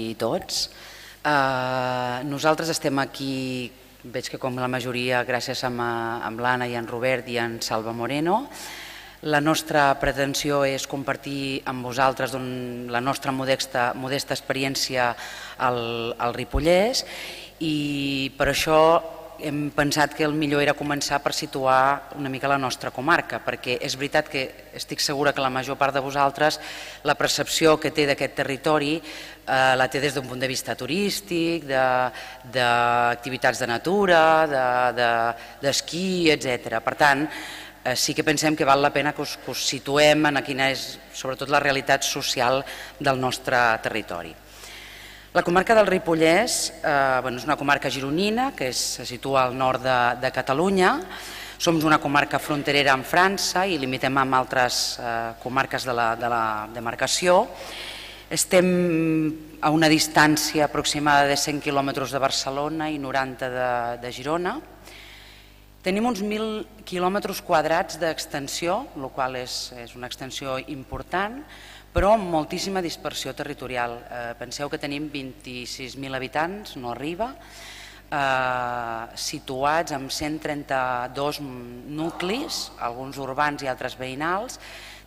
i tots. Nosaltres estem aquí, veig que com la majoria, gràcies a l'Anna i en Robert i en Salva Moreno. La nostra pretensió és compartir amb vosaltres la nostra modesta experiència al Ripollès i per això hem pensat que el millor era començar per situar una mica la nostra comarca, perquè és veritat que estic segura que la major part de vosaltres la percepció que té d'aquest territori la té des d'un punt de vista turístic, d'activitats de natura, d'esquí, etc. Per tant, sí que pensem que val la pena que us situem en quina és sobretot la realitat social del nostre territori. La comarca del Ripollès és una comarca gironina que se situa al nord de Catalunya. Som una comarca fronterera amb França i limitem amb altres comarques de la demarcació. Estem a una distància aproximada de 100 quilòmetres de Barcelona i 90 de Girona. Tenim uns 1.000 quilòmetres quadrats d'extensió, el qual és una extensió important, però amb moltíssima dispersió territorial. Penseu que tenim 26.000 habitants, no arriba, situats en 132 nuclis, alguns urbans i altres veïnals,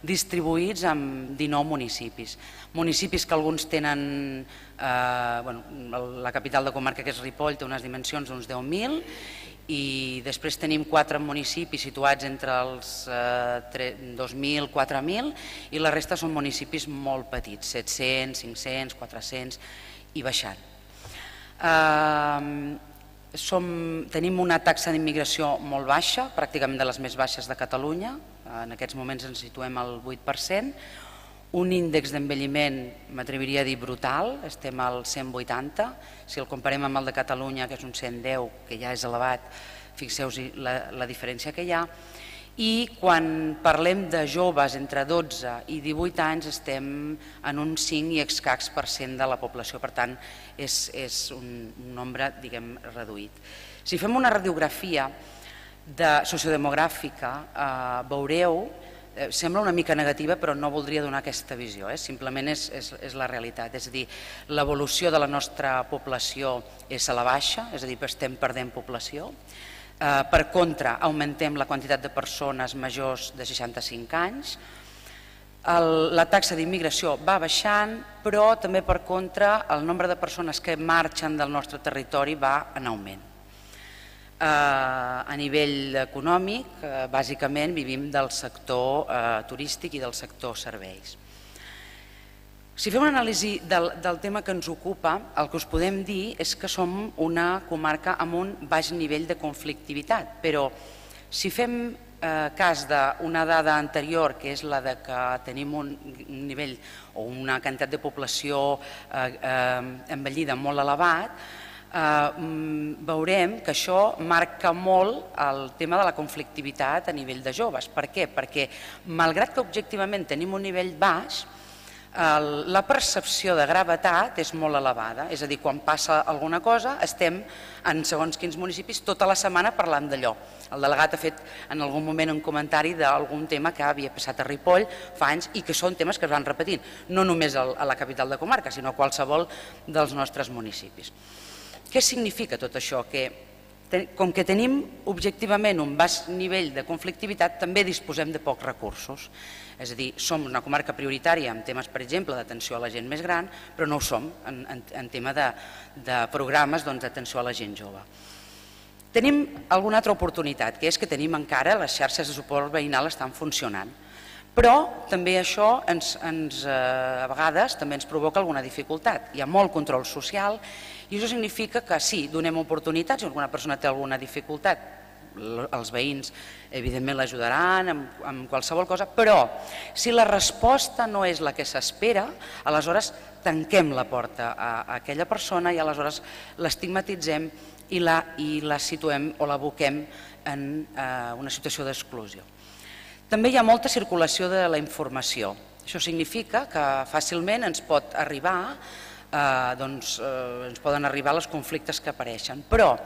distribuïts en 19 municipis. Municipis que alguns tenen, la capital de comarca que és Ripoll té unes dimensions d'uns 10.000 i després tenim 4 municipis situats entre els 2.000 i 4.000 i la resta són municipis molt petits, 700, 500, 400 i baixant. Tenim una taxa d'immigració molt baixa, pràcticament de les més baixes de Catalunya, en aquests moments ens situem al 8%, un índex d'envelliment, m'atreviria a dir brutal, estem al 180, si el comparem amb el de Catalunya, que és un 110, que ja és elevat, fixeu-vos la diferència que hi ha, i quan parlem de joves entre 12 i 18 anys estem en un 5 i escacs % de la població, per tant és un nombre, diguem, reduït. Si fem una radiografia sociodemogràfica veureu, sembla una mica negativa però no voldria donar aquesta visió, simplement és la realitat, és a dir, l'evolució de la nostra població és a la baixa, és a dir, estem perdent població, per contra augmentem la quantitat de persones majors de 65 anys, la taxa d'immigració va baixant però també per contra el nombre de persones que marxen del nostre territori va en augment. A nivell econòmic, bàsicament vivim del sector turístic i del sector serveis. Si fem una anàlisi del tema que ens ocupa, el que us podem dir és que som una comarca amb un baix nivell de conflictivitat, però si fem cas d'una dada anterior, que és la que tenim un nivell o una quantitat de població envellida molt elevat, veurem que això marca molt el tema de la conflictivitat a nivell de joves. Per què? Perquè malgrat que objectivament tenim un nivell baix, la percepció de gravetat és molt elevada, és a dir, quan passa alguna cosa estem en segons quins municipis tota la setmana parlant d'allò. El delegat ha fet en algun moment un comentari d'algun tema que havia passat a Ripoll fa anys i que són temes que es van repetint, no només a la capital de comarca, sinó a qualsevol dels nostres municipis. Què significa tot això? Que com que tenim objectivament un baix nivell de conflictivitat, també disposem de pocs recursos. És a dir, som una comarca prioritària en temes, per exemple, d'atenció a la gent més gran, però no ho som en tema de programes d'atenció a la gent jove. Tenim alguna altra oportunitat, que és que tenim encara les xarxes de suport veïnal estan funcionant. Però també això a vegades també ens provoca alguna dificultat. Hi ha molt control social i això significa que sí, donem oportunitats, si alguna persona té alguna dificultat, els veïns evidentment l'ajudaran en qualsevol cosa, però si la resposta no és la que s'espera, aleshores tanquem la porta a aquella persona i aleshores l'estigmatitzem i la situem o l'aboquem en una situació d'exclusió. També hi ha molta circulació de la informació. Això significa que fàcilment ens pot arribar ens poden arribar els conflictes que apareixen. Però,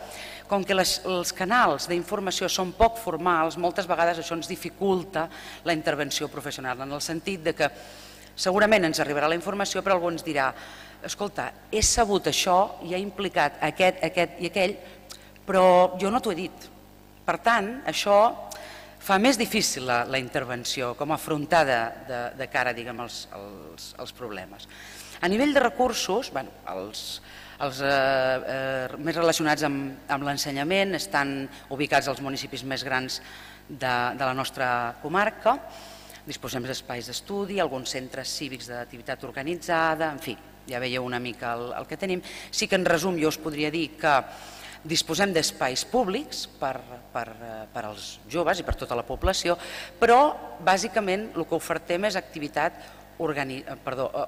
com que els canals d'informació són poc formals, moltes vegades això ens dificulta la intervenció professional, en el sentit que segurament ens arribarà la informació, però algú ens dirà escolta, he sabut això i he implicat aquest i aquell, però jo no t'ho he dit. Per tant, això fa més difícil la intervenció, com afrontar de cara, diguem, als problemes. A nivell de recursos, els més relacionats amb l'ensenyament estan ubicats als municipis més grans de la nostra comarca. Disposem d'espais d'estudi, alguns centres cívics d'activitat organitzada, en fi, ja veieu una mica el que tenim. Sí que en resum jo us podria dir que disposem d'espais públics per als joves i per tota la població, però bàsicament el que ofertem és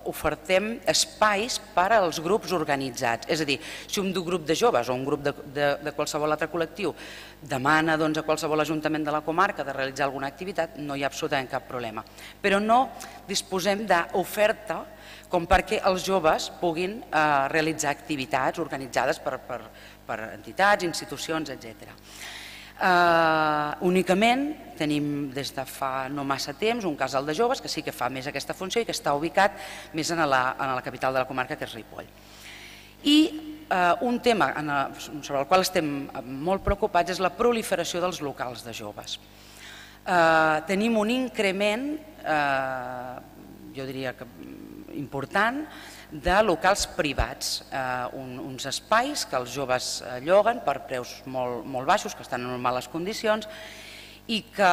ofertem espais per als grups organitzats. És a dir, si un grup de joves o un grup de qualsevol altre col·lectiu demana a qualsevol ajuntament de la comarca de realitzar alguna activitat, no hi ha absolutament cap problema. Però no disposem d'oferta com perquè els joves puguin realitzar activitats organitzades per entitats, institucions, etc. Únicament tenim des de fa no massa temps un casal de joves que sí que fa més aquesta funció i que està ubicat més a la capital de la comarca, que és Ripoll. I un tema sobre el qual estem molt preocupats és la proliferació dels locals de joves. Tenim un increment, jo diria que important, de locals privats, uns espais que els joves lloguen per preus molt baixos, que estan en males condicions, i que,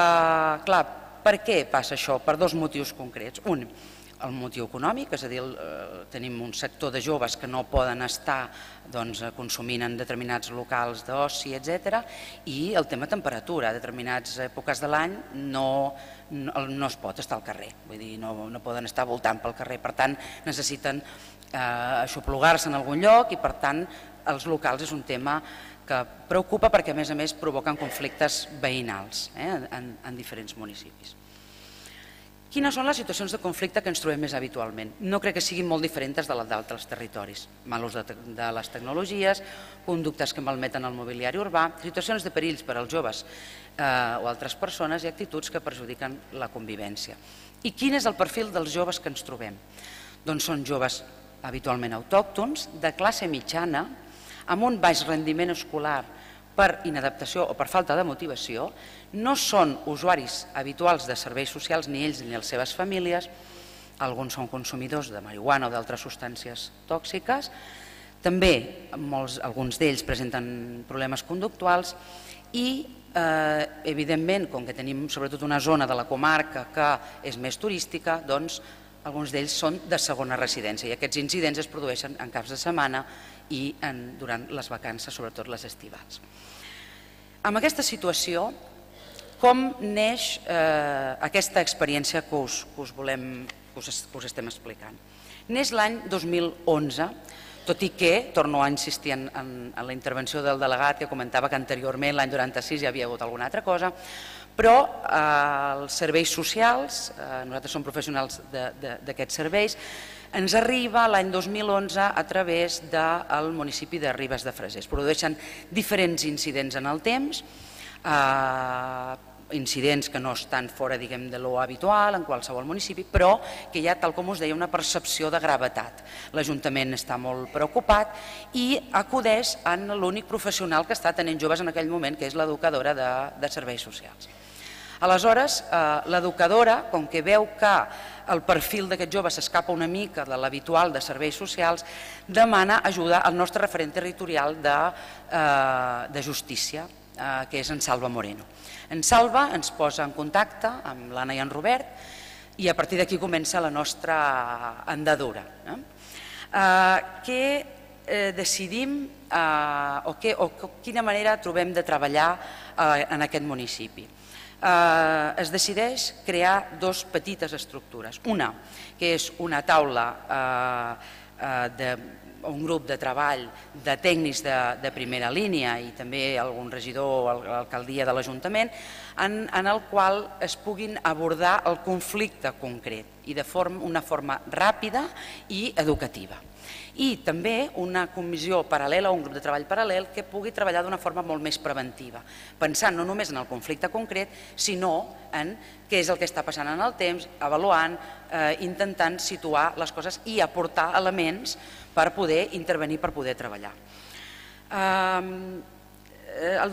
clar, per què passa això? Per dos motius concrets. Un, el motiu econòmic, és a dir, tenim un sector de joves que no poden estar consumint en determinats locals d'oci, etc. I el tema temperatura. A determinades èpoques de l'any no es pot estar al carrer, vull dir, no poden estar voltant pel carrer, per tant necessiten aixoplugar-se en algun lloc i per tant els locals és un tema que preocupa perquè a més provoquen conflictes veïnals en diferents municipis. Quines són les situacions de conflicte que ens trobem més habitualment? No crec que siguin molt diferents de les d'altres territoris. Mal ús de les tecnologies, conductes que malmeten el mobiliari urbà, situacions de perills per als joves o altres persones i actituds que perjudiquen la convivència. I quin és el perfil dels joves que ens trobem? Doncs són joves habitualment autòctons, de classe mitjana, amb un baix rendiment escolar per inadaptació o per falta de motivació, no són usuaris habituals de serveis socials ni ells ni les seves famílies, alguns són consumidors de marihuana o d'altres substàncies tòxiques, també alguns d'ells presenten problemes conductuals i, evidentment, com que tenim sobretot una zona de la comarca que és més turística, doncs alguns d'ells són de segona residència i aquests incidents es produeixen en caps de setmana i durant les vacances, sobretot les estivals. Amb aquesta situació, com neix aquesta experiència que us estem explicant? Neix l'any 2011, tot i que, torno a insistir en la intervenció del delegat que comentava que anteriorment, l'any 96, hi havia hagut alguna altra cosa, però els serveis socials, nosaltres som professionals d'aquests serveis, ens arriba l'any 2011 a través del municipi de Ribes de Freser. Es produeixen diferents incidents en el temps, incidents que no estan fora, diguem, de lo habitual en qualsevol municipi, però que hi ha, tal com us deia, una percepció de gravetat. L'Ajuntament està molt preocupat i acudeix en l'únic professional que està tenint joves en aquell moment, que és l'educadora de serveis socials. Aleshores, l'educadora, com que veu que el perfil d'aquest jove s'escapa una mica de l'habitual de serveis socials, demana ajuda al nostre referent territorial de justícia, que és en Salva Moreno. En Salva ens posa en contacte amb l'Anna i en Robert i a partir d'aquí comença la nostra andadura. Què decidim o quina manera trobem de treballar en aquest municipi? Es decideix crear dues petites estructures. Una, que és una taula, un grup de treball de tècnics de primera línia i també algun regidor o l'alcaldia de l'Ajuntament, en el qual es puguin abordar el conflicte concret i de una forma ràpida i educativa. I també una comissió paral·lela o un grup de treball paral·lel que pugui treballar d'una forma molt més preventiva, pensant no només en el conflicte concret, sinó en què és el que està passant en el temps, avaluant, intentant situar les coses i aportar elements per poder intervenir, per poder treballar.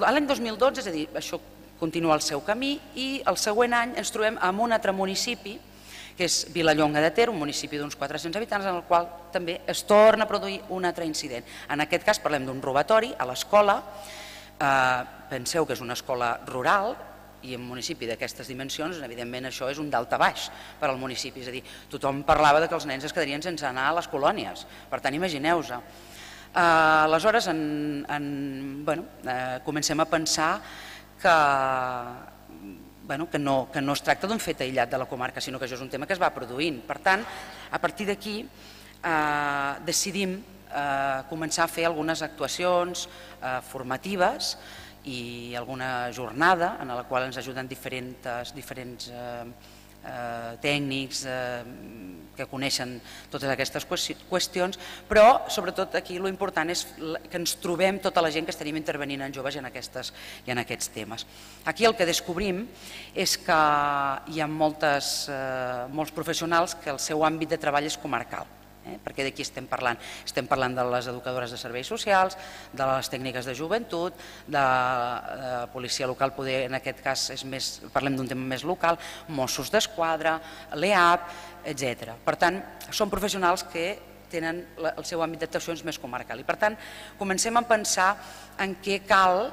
L'any 2012, és a dir, això continua el seu camí i el següent any ens trobem amb un altre municipi, que és Vilallonga de Ter, un municipi d'uns 400 habitants, en el qual també es torna a produir un altre incident. En aquest cas parlem d'un robatori a l'escola, penseu que és una escola rural i en un municipi d'aquestes dimensions, evidentment això és un daltabaix per al municipi, és a dir, tothom parlava que els nens es quedarien sense anar a les colònies, per tant imagineu-vos. Aleshores comencem a pensar que no es tracta d'un fet aïllat de la comarca, sinó que això és un tema que es va produint. Per tant, a partir d'aquí decidim començar a fer algunes actuacions formatives i alguna jornada en la qual ens ajuden diferents tècnics que coneixen totes aquestes qüestions, però sobretot aquí l'important és que ens trobem tota la gent que estaríem intervenint en joves i en aquests temes. Aquí el que descobrim és que hi ha molts professionals que el seu àmbit de treball és comarcal. Perquè d'aquí estem parlant? Estem parlant de les educadores de serveis socials, de les tècniques de joventut, de policia local, poder en aquest cas parlem d'un tema més local, Mossos d'Esquadra, l'EAP, etc. Per tant, són professionals que tenen el seu àmbit d'actuacions més comarcal i per tant comencem a pensar en què cal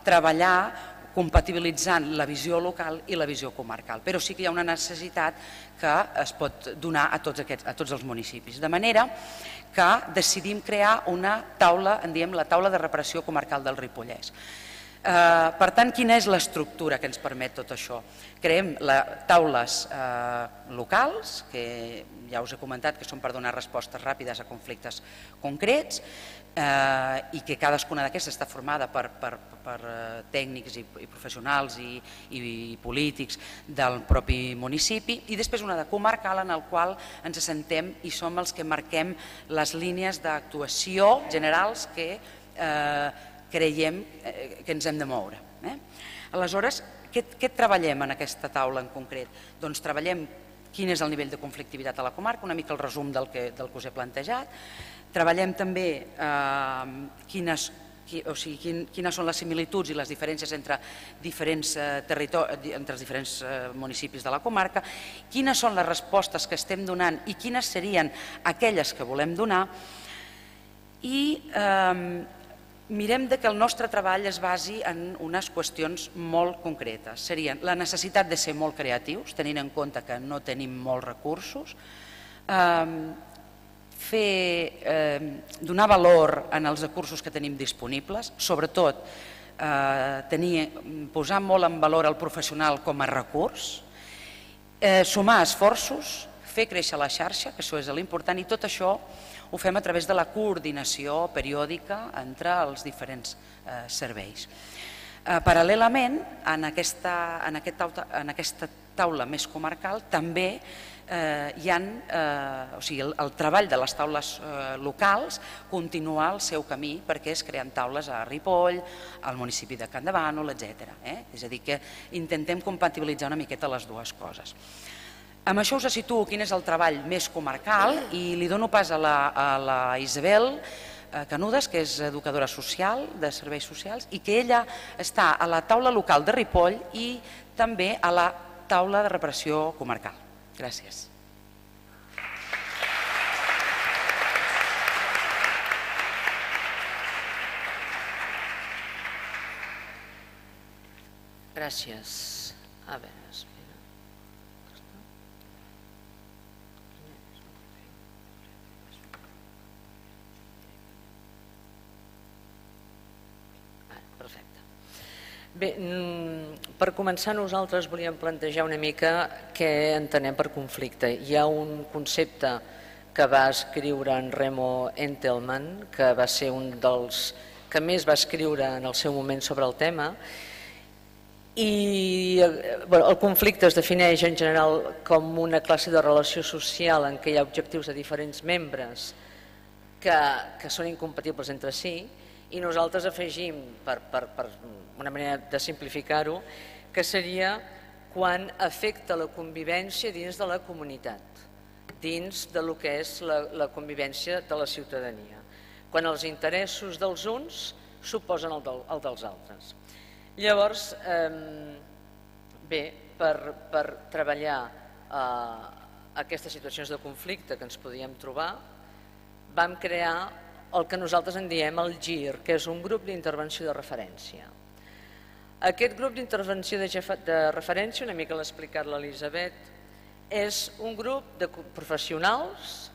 treballar compatibilitzant la visió local i la visió comarcal, però sí que hi ha una necessitat que es pot donar a tots els municipis. De manera que decidim crear una taula, en diem la taula de reparació comarcal del Ripollès. Per tant, quina és l'estructura que ens permet tot això? Creem taules locals, que ja us he comentat que són per donar respostes ràpides a conflictes concrets, i que cadascuna d'aquestes està formada per tècnics i professionals i polítics del propi municipi, i després una de comarcal en el qual ens assentem i som els que marquem les línies d'actuació generals que creiem que ens hem de moure. Aleshores, què treballem en aquesta taula en concret? Doncs treballem quin és el nivell de conflictivitat a la comarca, una mica el resum del que us he plantejat. Treballem també quines són les similituds i les diferències entre els diferents municipis de la comarca, quines són les respostes que estem donant i quines serien aquelles que volem donar, i mirem que el nostre treball es basi en unes qüestions molt concretes. Serien la necessitat de ser molt creatius, tenint en compte que no tenim molts recursos, donar valor en els recursos que tenim disponibles, sobretot posar molt en valor el professional com a recurs, sumar esforços, fer créixer la xarxa, que això és l'important, i tot això ho fem a través de la coordinació periòdica entre els diferents serveis. Paral·lelament, en aquesta taula més comarcal també hi ha, el treball de les taules locals continua el seu camí perquè es creen taules a Ripoll, al municipi de Campdevànol, etc. És a dir, que intentem compatibilitzar una miqueta les dues coses. Amb això us situo quin és el treball més comarcal i li dono pas a la Isabel Canudes, que és educadora social de serveis socials i que ella està a la taula local de Ripoll i també a la taula de reparació comarcal. Gràcies. Gràcies. A veure, espera. Perfecte. Bé, per començar nosaltres volíem plantejar una mica què entenem per conflicte. Hi ha un concepte que va escriure en Remo Entelman, que va ser un dels que més va escriure en el seu moment sobre el tema, i el conflicte es defineix en general com una classe de relació social en què hi ha objectius de diferents membres que són incompatibles entre si, i nosaltres afegim, per una manera de simplificar-ho, que seria quan afecta la convivència dins de la comunitat, dins del que és la convivència de la ciutadania, quan els interessos dels uns suposen el dels altres. Llavors, bé, per treballar aquestes situacions de conflicte que ens podíem trobar, vam crear el que nosaltres en diem el GIR, que és un grup d'intervenció de referència. Aquest grup d'intervenció de referència, una mica l'ha explicat l'Elisabet, és un grup de professionals,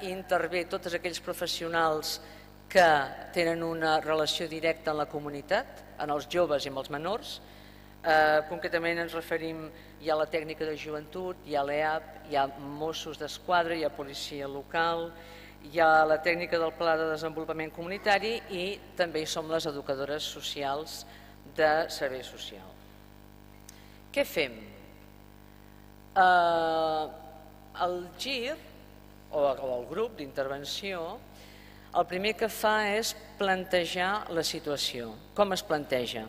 intervé tots aquells professionals que tenen una relació directa amb la comunitat, en els joves i amb els menors. Concretament ens referim, hi ha la tècnica de joventut, hi ha l'EAP, hi ha Mossos d'Esquadra, hi ha policia local, hi ha la tècnica del Pla de Desenvolupament Comunitari i també hi som les educadores socials de servei social. Què fem? El GIR, o el grup d'intervenció, el primer que fa és plantejar la situació. Com es planteja?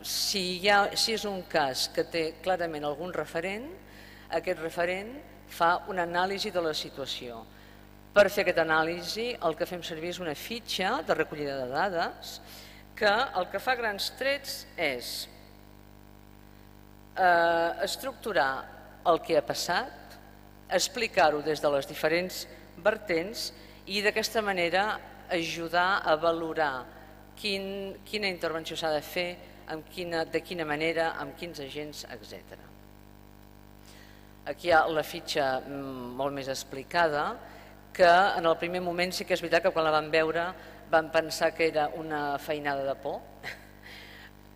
Si és un cas que té clarament algun referent, aquest referent fa una anàlisi de la situació. Per fer aquesta anàlisi el que fem servir és una fitxa de recollida de dades que el que fa grans trets és estructurar el que ha passat, explicar-ho des de les diferents vertents i d'aquesta manera ajudar a valorar quina intervenció s'ha de fer, de quina manera, amb quins agents, etc. Aquí hi ha la fitxa molt més explicada, que en el primer moment sí que és veritat que quan la vam veure vam pensar que era una feinada de por,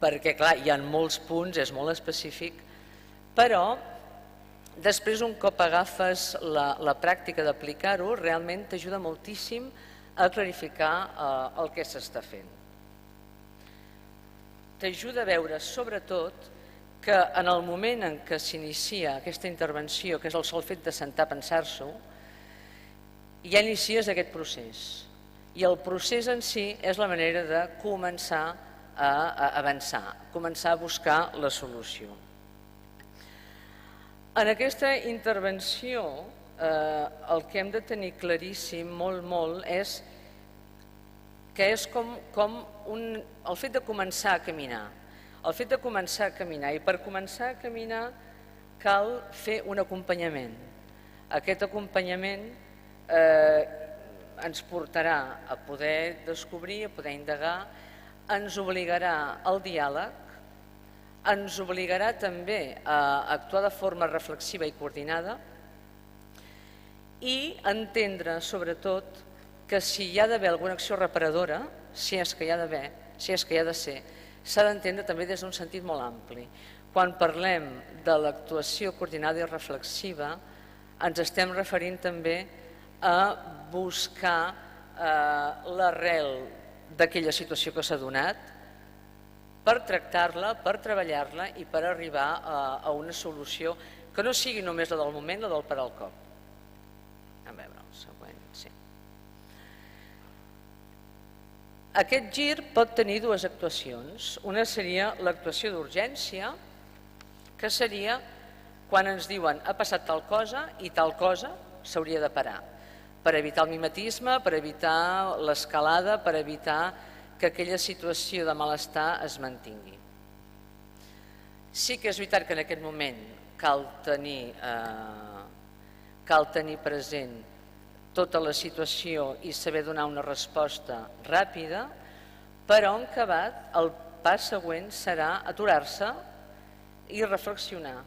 perquè clar, hi ha molts punts, és molt específic, però després un cop agafes la pràctica d'aplicar-ho, realment t'ajuda moltíssim a clarificar el que s'està fent. T'ajuda a veure sobretot que en el moment en què s'inicia aquesta intervenció, que és el sol fet de sentar a pensar-s'ho, ja inicies aquest procés. I el procés en si és la manera de començar a avançar, començar a buscar la solució. En aquesta intervenció el que hem de tenir claríssim, molt, és que és com el fet de començar a caminar. El fet de començar a caminar, i per començar a caminar cal fer un acompanyament. Aquest acompanyament ens portarà a poder descobrir, a poder indagar, ens obligarà al diàleg, ens obligarà també a actuar de forma reflexiva i coordinada i entendre, sobretot, que si hi ha d'haver alguna acció reparadora, si és que hi ha d'haver, si és que hi ha de ser, s'ha d'entendre també des d'un sentit molt ampli. Quan parlem de l'actuació coordinada i reflexiva, ens estem referint també a buscar l'arrel d'aquella situació que s'ha donat, per tractar-la, per treballar-la i per arribar a una solució que no sigui només la del moment, la del per al cop. A veure, el següent, sí. Aquest GIR pot tenir dues actuacions. Una seria l'actuació d'urgència, que seria quan ens diuen ha passat tal cosa i tal cosa s'hauria de parar, per evitar el mimetisme, per evitar l'escalada, per evitar que aquella situació de malestar es mantingui. Sí que és veritat que en aquest moment cal tenir present tota la situació i saber donar una resposta ràpida, però en acabat el pas següent serà aturar-se i reflexionar,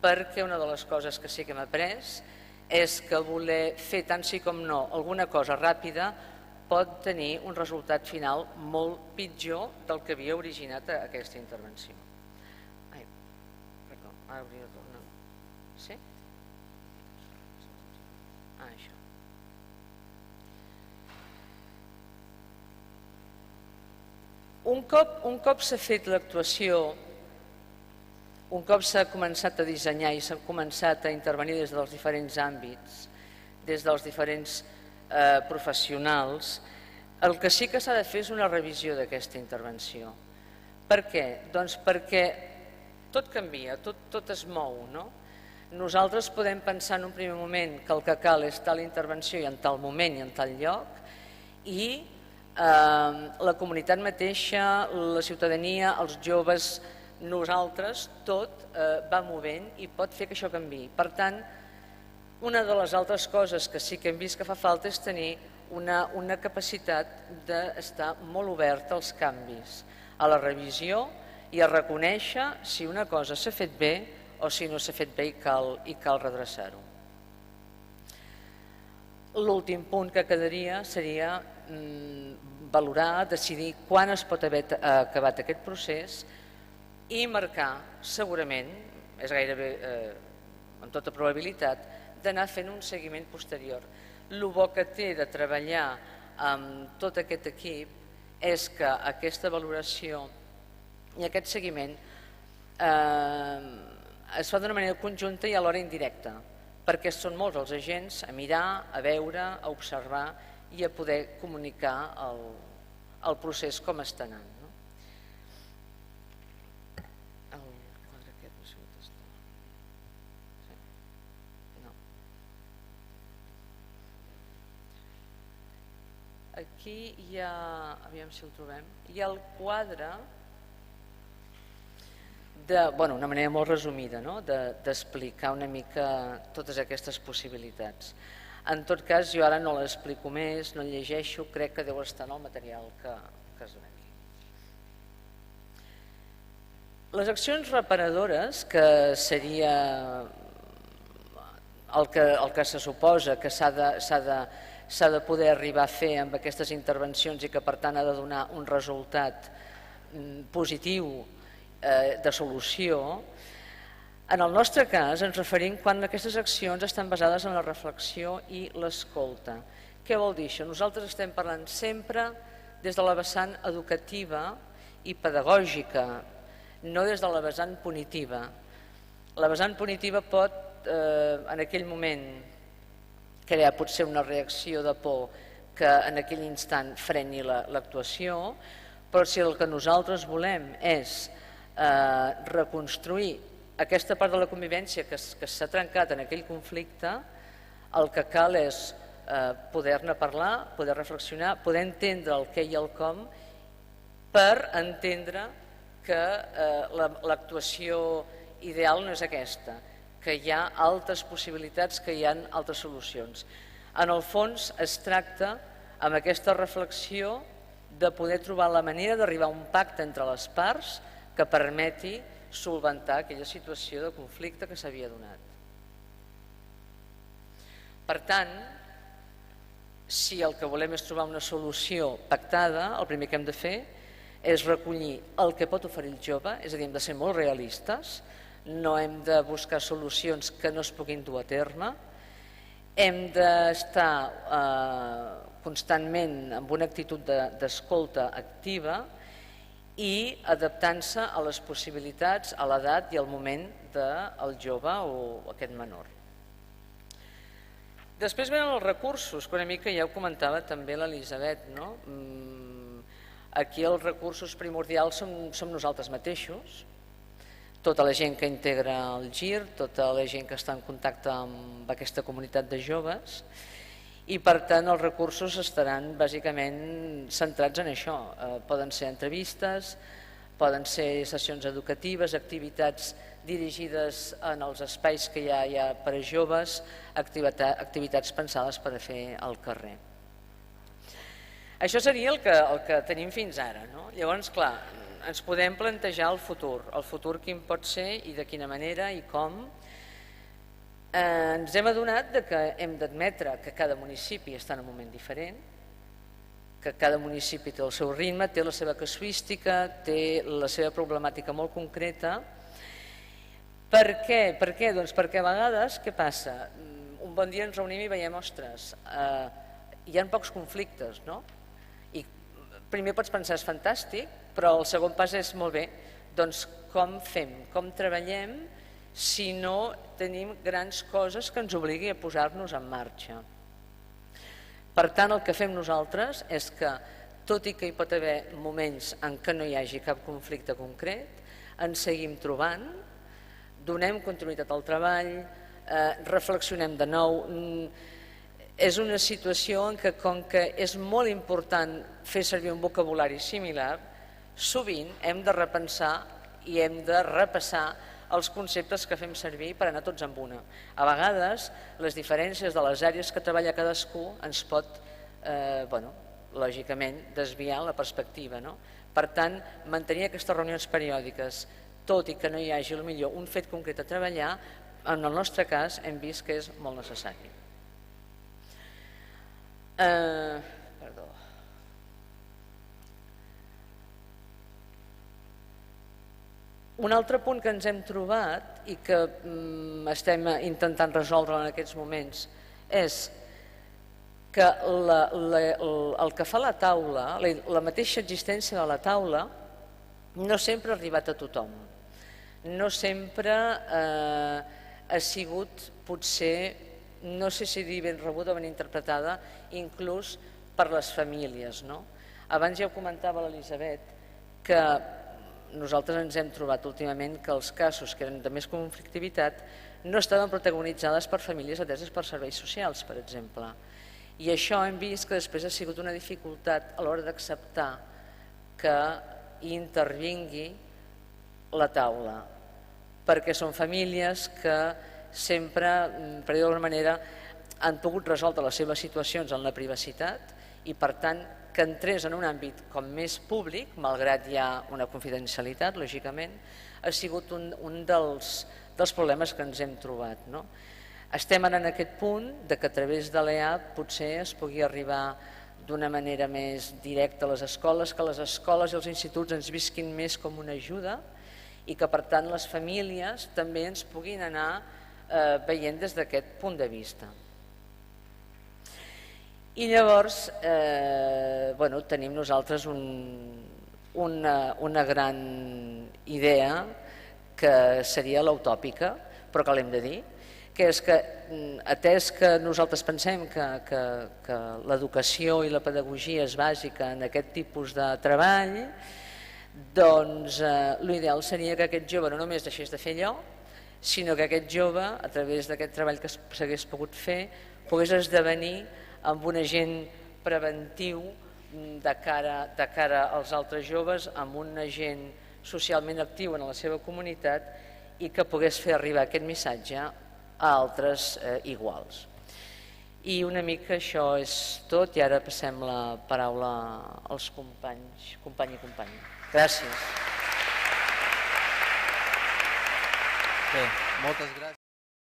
perquè una de les coses que sí que hem après és que voler fer tant sí com no alguna cosa ràpida pot tenir un resultat final molt pitjor del que havia originat aquesta intervenció. Ara hauria de tornar. Sí? Això. Un cop s'ha fet l'actuació, un cop s'ha començat a dissenyar i s'ha començat a intervenir des dels diferents àmbits, des dels diferents professionals, el que sí que s'ha de fer és una revisió d'aquesta intervenció. Per què? Doncs perquè tot canvia, tot es mou, no? Nosaltres podem pensar en un primer moment que el que cal és tal intervenció i en tal moment i en tal lloc, i la comunitat mateixa, la ciutadania, els joves, nosaltres, tot va movent i pot fer que això canviï. Per tant, una de les altres coses que sí que hem vist que fa falta és tenir una capacitat d'estar molt oberta als canvis, a la revisió i a reconèixer si una cosa s'ha fet bé o si no s'ha fet bé i cal redreçar-ho. L'últim punt que quedaria seria valorar, decidir quan es pot haver acabat aquest procés i marcar, segurament, és gairebé amb tota probabilitat, d'anar fent un seguiment posterior. El bo que té de treballar amb tot aquest equip és que aquesta valoració i aquest seguiment es fa d'una manera conjunta i alhora indirecta, perquè són molts els agents a mirar, a veure, a observar i a poder comunicar el procés com està anant. Aquí hi ha, aviam si el trobem, hi ha el quadre una manera molt resumida d'explicar una mica totes aquestes possibilitats. En tot cas, jo ara no l'explico més, no el llegeixo, crec que deu estar en el material que es dona aquí. Les accions reparadores, que seria el que se suposa que s'ha de poder arribar a fer amb aquestes intervencions i que per tant ha de donar un resultat positiu de solució, en el nostre cas ens referim quan aquestes accions estan basades en la reflexió i l'escolta. Què vol dir això? Nosaltres estem parlant sempre des de la vessant educativa i pedagògica, no des de la vessant punitiva. La vessant punitiva pot en aquell moment crear potser una reacció de por que en aquell instant freni l'actuació, però si el que nosaltres volem és reconstruir aquesta part de la convivència que s'ha trencat en aquell conflicte, el que cal és poder-ne parlar, poder reflexionar, poder entendre el què i el com, per entendre que l'actuació ideal no és aquesta, que hi ha altres possibilitats, que hi ha altres solucions. En el fons es tracta, amb aquesta reflexió, de poder trobar la manera d'arribar a un pacte entre les parts que permeti solventar aquella situació de conflicte que s'havia donat. Per tant, si el que volem és trobar una solució pactada, el primer que hem de fer és recollir el que pot oferir el jove, és a dir, hem de ser molt realistes, no hem de buscar solucions que no es puguin dur a terme, hem d'estar constantment amb una actitud d'escolta activa i adaptant-se a les possibilitats, a l'edat i al moment del jove o aquest menor. Després venen els recursos, que una mica ja ho comentava també l'Elisabet. Aquí els recursos primordials som nosaltres mateixos, tota la gent que integra el GIR, tota la gent que està en contacte amb aquesta comunitat de joves, i per tant els recursos estaran bàsicament centrats en això. Poden ser entrevistes, poden ser sessions educatives, activitats dirigides en els espais que hi ha per a joves, activitats pensades per a fer al carrer. Això seria el que tenim fins ara. Llavors, clar, ens podem plantejar el futur quin pot ser i de quina manera i com. Ens hem adonat que hem d'admetre que cada municipi està en un moment diferent, que cada municipi té el seu ritme, té la seva casuística, té la seva problemàtica molt concreta. Per què? Doncs perquè a vegades, què passa? Un bon dia ens reunim i veiem, ostres, hi ha pocs conflictes, no? I primer pots pensar, és fantàstic, però el segon pas és molt bé, doncs com fem, com treballem si no tenim grans coses que ens obligui a posar-nos en marxa. Per tant, el que fem nosaltres és que, tot i que hi pot haver moments en què no hi hagi cap conflicte concret, ens seguim trobant, donem continuïtat al treball, reflexionem de nou. És una situació en què, com que és molt important fer servir un vocabulari similar, sovint hem de repensar i hem de repassar els conceptes que fem servir per anar tots amb una. A vegades, les diferències de les àrees que treballa cadascú ens pot, lògicament, desviar la perspectiva. Per tant, mantenir aquestes reunions periòdiques, tot i que no hi hagi potser un fet concret a treballar, en el nostre cas hem vist que és molt necessari. Perdó. Un altre punt que ens hem trobat i que estem intentant resoldre en aquests moments és que el que fa la taula, la mateixa existència de la taula, no sempre ha arribat a tothom. No sempre ha sigut, potser, no sé si dir ben rebuda o ben interpretada, inclús per les famílies. Abans ja ho comentava l'Elisabet, que nosaltres ens hem trobat últimament que els casos que eren de més conflictivitat no estaven protagonitzades per famílies ateses per serveis socials, per exemple. I això hem vist que després ha sigut una dificultat a l'hora d'acceptar que intervingui la taula, perquè són famílies que sempre, per dir-ho d'alguna manera, han pogut resoldre les seves situacions en la privacitat i, per tant, que entrés en un àmbit com més públic, malgrat hi ha una confidencialitat, lògicament, ha sigut un dels problemes que ens hem trobat. Estem ara en aquest punt de que a través de l'EAP potser es pugui arribar d'una manera més directa a les escoles, que les escoles i els instituts ens visquin més com una ajuda i que, per tant, les famílies també ens puguin anar veient des d'aquest punt de vista. I llavors tenim nosaltres una gran idea que seria l'utòpica, però que l'hem de dir, que és que, atès que nosaltres pensem que l'educació i la pedagogia és bàsica en aquest tipus de treball, doncs l'ideal seria que aquest jove no només deixés de fer allò, sinó que aquest jove, a través d'aquest treball que s'hagués pogut fer, pogués esdevenir amb un agent preventiu de cara als altres joves, amb un agent socialment actiu en la seva comunitat i que pogués fer arribar aquest missatge a altres iguals. I una mica això és tot i ara passem la paraula als companys, company i companya. Gràcies. Bé, moltes gràcies.